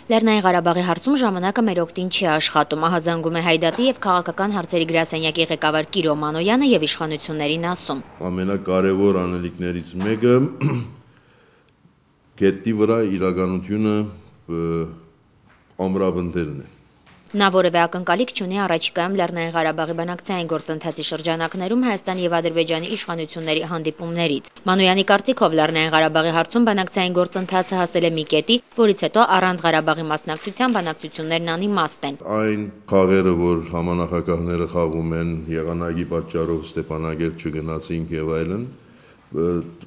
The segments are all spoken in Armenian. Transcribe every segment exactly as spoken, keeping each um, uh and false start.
Լեռնային Ղարաբաղի հարցում ժամանակը մեր օգտին չի աշխատում, ահազանգում է Հայդատի եւ քաղաքական հարցերի գրասենյակի ղեկավար Կիրո Մանոյանը եւ իշխանություններին ասում. Ամենակարևոր անելիքներից մեկը գետի վրա իրականությունը ամրապնդելն է։ Նա որևէ ակնկալիք չունի առաջիկայում Լեռնային Ղարաբաղի բանակցային գործընթացի շրջանակներում Հայաստանի եւ Ադրբեջանի իշխանությունների հանդիպումներից։ Մանոյանի կարծիքով Լեռնային Ղարաբաղի հարցում բանակցային գործընթացը հասել է մի կետի, որից հետո առանց Ղարաբաղի մասնակցության բանակցություններն անիմաստ են։ Այն խաղերը, որ համանախագահները խաղում են, եղանակի պատճառով Ստեփանագերտ չգնացինք եւ այլն,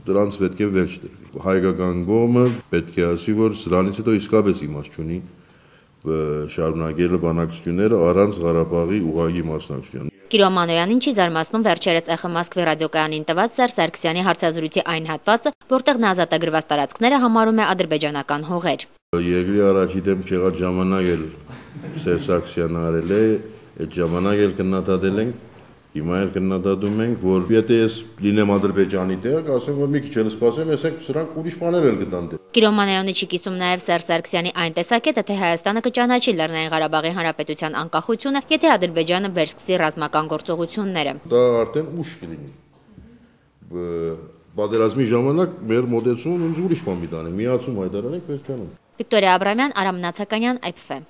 դրանց պետք է վերջ տրվի։ Հայկական կողմը պետք է ասի, որ սրանից հետո իսկապես իմաստ չունի շարունակել բանակցությունները առանց Ղարաբաղի ուղղակի մասնակցության։ Կիրո Մանոյանին չի զարմացնում վերջերս Էխ Մոսկվի ռադիոկայանին տված Սերժ Սարգսյանի հարցազրույցի այն հատվածը, որտեղ նա ազատագրված տարածքները համարում է ադրբեջանական հողեր։ Երկրի առաջի դեմ չեղած ժամանակ էլ Սերժ Սարգսյանը արել է, այդ ժամանակ էլ քննադատել ենք, հիմա էլ քննադատում ենք, որ եթե ես լինեմ Ադրբեջանի տեղ, ասեմ, որ մի քիչ էլ սպասեմ, ասենք սրանք ուրիշ բաներ էլ կտան դե։ Կիրո Մանոյանը չի կիսում նաև Սերժ Սարգսյանի այն տեսակետը, թե Հայաստանը կճանաչի Լեռնային Ղարաբաղի Հանրապետության անկախությունը, եթե Ադրբեջանը վերսկսի ռազմական գործողությունները։ Դա արդեն ուշ կլինի։ Պատերազմի ժամանակ մեր մոտեցումն ուրիշ բան մի տանի, միացում հայտարարենք վերջանում։ Վիկտորիա Աբրամյան, Արամ Նացականյան, Այ Փ Ֆ։